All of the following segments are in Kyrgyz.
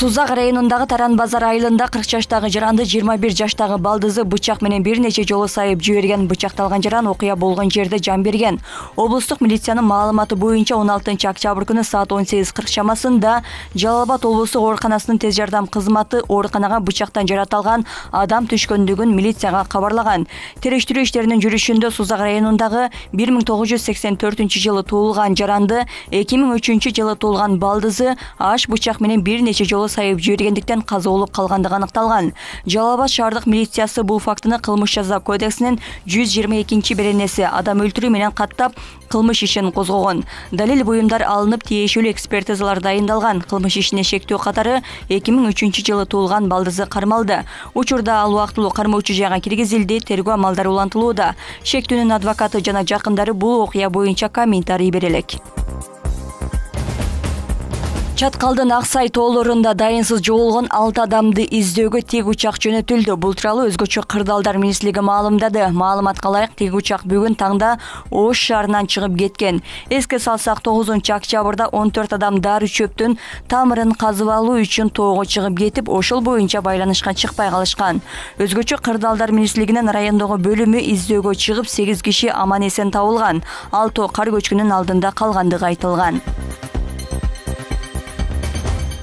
Сузак районундагы Таран базар айылында 40 жаштагы жаранды 21 жаштагы балдызы бычак менен бир нече жолу сайып жиберген. Бычакталган жаран окуя болгон жерде жан берген. Облустук милициянын маалыматы боюнча 16 октябрь күнү саат 18:40 чамасында Жалал Абад облустук ооруканасынын тез жардам кызматы ооруканага бычактан жаратылган адам түшкөндүгүн милицияга кабарлаган. Териштирүү иштеринин жүрүшүндө Сузак районундагы 1984 жылы туулган жаранды 2003 жылы туулган балдызы аш бычак менен бир нече жолу сайып жибергендиктен каза болуп калгандыгы аныкталган. Жалал Абад шаардык милициясы бул фактыны кылмыш жаза кодексинин 122 беренеси адам өлтүрүү менен каттап кылмыш ишин козгогон. Далил буюмдар алынып, тиешелүү экспертизалар дайындалган. Кылмыш ишине шектөө катары 2003 жылы туулган балдызы кармалды. Учурда ал убактылуу кармоочу жайга киргизилди, тергөө амалдары улантылууда. Шектүүнүн адвокаты жана жакындары бул окуя боюнча комментарий бере элек. Чаткалдын Аксай тоолорунда дайынсыз жоголгон 6 адамды издөөгө тик учак жөнөтүлдү. Бул тууралуу Өзгөчө кырдаалдар министрлиги маалымдады. Маалыматка ылайык, тик учак бүгүн таңда Ош шаарынан чыгып кеткен. Эске салсак, 9 октябрда 14 адам дары чөптүн тамырын казып алуу үчүн тоого чыгып кетип, ошол боюнча байланышка чыкпай калышкан. Өзгөчө кырдаалдар министрлигинин райондогу бөлүмү издөөгө чыгып 8 киши аман эсен табылган. Ал тоо кар көчкүнүн алдында калгандыгы айтылган.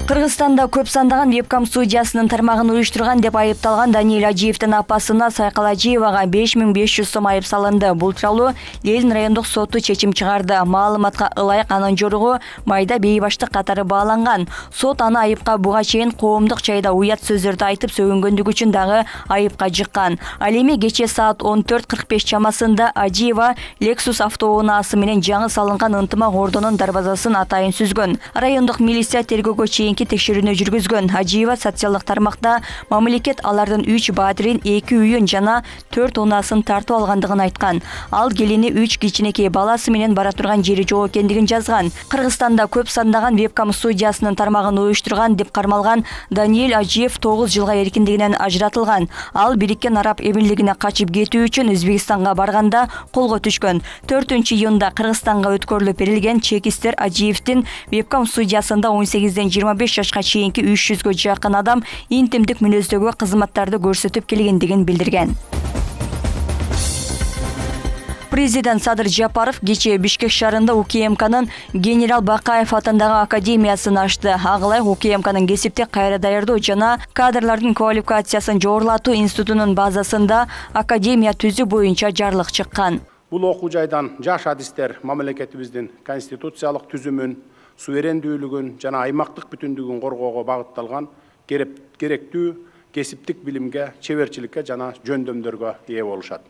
Кыргызстанда көп сандаган вебкам студиясынын тармагын уюштурган деп айыпталган Даниэль Ажиевдин апасына Сайкал Ажиевага 5500 сом айып салынды. Бул тууралуу Ленин райондук соту чечим чыгарды. Маалыматка ылайык, анын жоругу майда бейбаштык катары бааланган. Сот аны айыпка буга чейин коомдук жайда уят сөздөрдү айтып сөгүнгөндүгү үчүн дагы айыпка жыккан. Ал эми кече саат 14:45 чамасында Ажиева Lexus автоунаасы менен жаңы салынган ынтымак ордонун дарбазасын атайын сүзгөн. Райондук милиция тергөөгө чейин текшерүүнү жүргүзгөн. Ажиева социалдык тармакта мамлекет алардын 3 баатирин, 2 үйүн жана 4 унаасын тартып алгандыгын айткан. Ал келини 3 кичинекей баласы менен бара турган жери жок экендигин жазган. Кыргызстанда көп сандаган вебкам студиясынын тармагын уюштурган деп кармалган Даниэль Ажиев 9 жылга эркиндигинен ажыратылган. Ал Бириккен Араб Эмирлигине качып кетүү үчүн Өзбекстанга барганда колго түшкөн. 4-июнда Кыргызстанга өткөрүлүп берилген чекистер Ажиевдин вебкам студиясында 18-ден 25 жашка чейинки 300гө жакын адам интимдик мүнөздөгү кызматтарды көрсөтүп келгендигин билдирген. Президент Садыр Жапаров кечээ Бишкек шаарында УКМКнын генерал Бакаев атындагы академиясын ачты. Агылай УКМКнын кесиптик кайра даярдоо жана кадрлардын квалификациясын жогорулатуу институтунун базасында академия түзүү боюнча жарлык чыккан. Бул окуу жайдан жаш адистер мамлекетибиздин конституциялык түзүмүн, суверендүүлүгүн жана аймактык бүтүндүгүн коргоого багытталган керектүү кесиптик билимге, чеберчиликке жана жөндөмдөргө ээ болушат.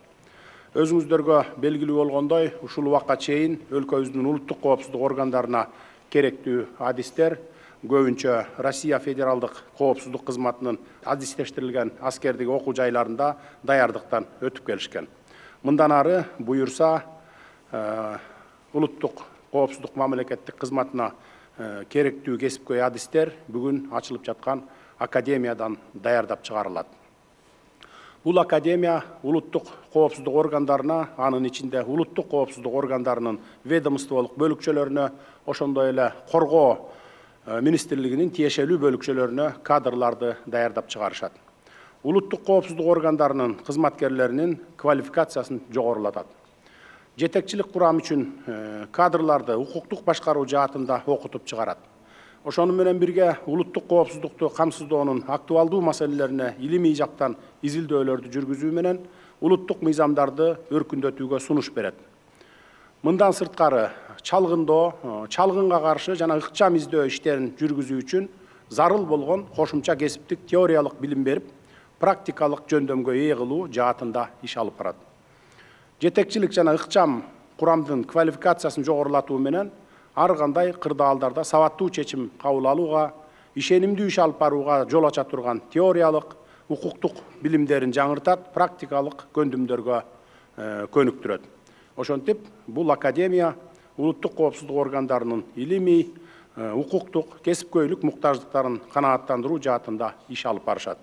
Өзүңүздөргө белгилүү болгондой, ушул убакка чейин өлкөбүздүн улуттук коопсуздук органдарына керектүү адистер көбүнчө Россия Федералдык коопсуздук кызматынын адистештирилген аскердик окуу жайларында даярдыктан өтүп келишкен. Мындан ары буюрса улуттук коопсуздук мамлекеттик кызматына керектүү кесипкөй адистер бүгүн ачылып жаткан академиядан даярдап чыгарылат. Бул академия улуттук коопсуздук органдарына, анын ичинде улуттук коопсуздук органдарынын ведомстволук бөлүкчөлөрүнө, ошондой эле коргоо министрлигинин тиешелүү бөлүкчөлөрүнө кадрларды даярдап чыгарышат. Улуттук коопсуздук органдарынын кызматкерлеринин квалификациясын жогорулатат. Жетекчилик курам үчүн кадрларды укуктук башкаруу жаатында окутуп чыгарат. Ошону менен бирге улуттук коопсуздукту камсыздоонун актуалдуу маселелерине илимий жактан изилдөөлөрдү жүргүзүү менен улуттук мыйзамдарды өркүндөтүүгө сунуш берет. Мындан сырткары чалгындоо, чалгынга каршы жана ыкчам издөө иштерин жүргүзүү үчүн зарыл болгон кошумча кесиптик теориялык билим берип, практикалык жөндөмгө ээ кылуу жаатында иш алып барат. Жетекчилик жана ыкчам курамдын квалификациясын жогорулатуу менен ар кандай кырдаалдарда сабаттуу чечим кабыл алууга, ишенимдүү иш алып барууга жол ача турган теориялык, укуктук билимдерин жаңыртат, практикалык көндүмдөргө көнүктүрөт. Ошентип, бул академия улуттук коопсуздук органдарынын илимий, укуктук, кесипкөйлүк муктаждыктарын канааттандыруу жаатында иш алып барышат.